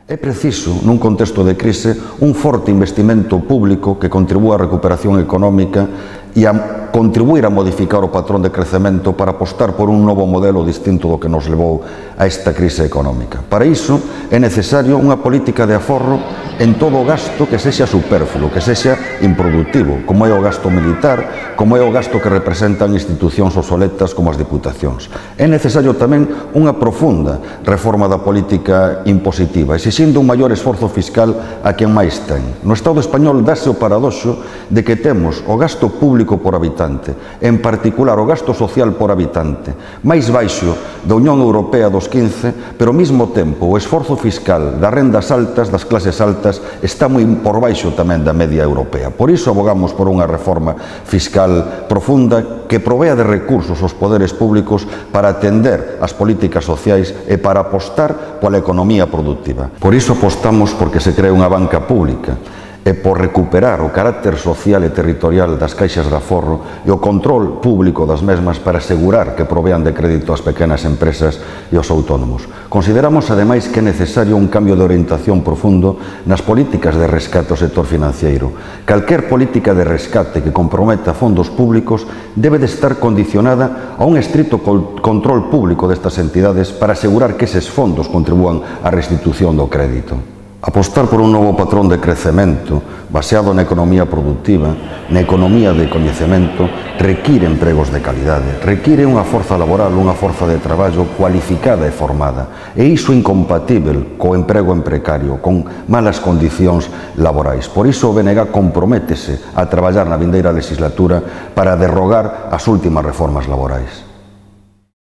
É preciso, nun contexto de crise, un forte investimento público que contribúa á recuperación económica e a contribuir a modificar o patrón de crecemento para apostar por un novo modelo distinto do que nos levou a esta crise económica. Para iso é necesario unha política de aforro en todo o gasto que sexa superfluo, que sexa improductivo, como é o gasto militar, como é o gasto que representan institucións obsoletas como as diputacións. É necesario tamén unha profunda reforma da política impositiva, exixindo un maior esforzo fiscal a quen máis ten. No Estado español dáse o paradoxo de que temos o gasto público por habitante, en particular o gasto social por habitante, máis baixo da Unión Europea dos 15, pero ao mesmo tempo o esforzo fiscal das rendas altas, das clases altas, está moi por baixo tamén da media europea. Por iso abogamos por unha reforma fiscal profunda que provea de recursos aos poderes públicos para atender as políticas sociais e para apostar pola economía productiva. Por iso apostamos porque se cree unha banca pública e por recuperar o carácter social e territorial das caixas de aforro e o control público das mesmas para asegurar que provean de crédito ás pequenas empresas e aos autónomos. Consideramos, ademais, que é necesario un cambio de orientación profundo nas políticas de rescate ao sector financiero. Calquer política de rescate que comprometa fondos públicos debe de estar condicionada a un estrito control público destas entidades para asegurar que eses fondos contribúan á restitución do crédito. Apostar por un novo patrón de crecemento baseado na economía productiva, na economía de coñecemento, require empregos de calidade, require unha forza laboral, unha forza de traballo cualificada e formada, e iso incompatível co emprego en precario, con malas condicións laborais. Por iso o BNG comprométese a traballar na vindeira legislatura para derrogar as últimas reformas laborais.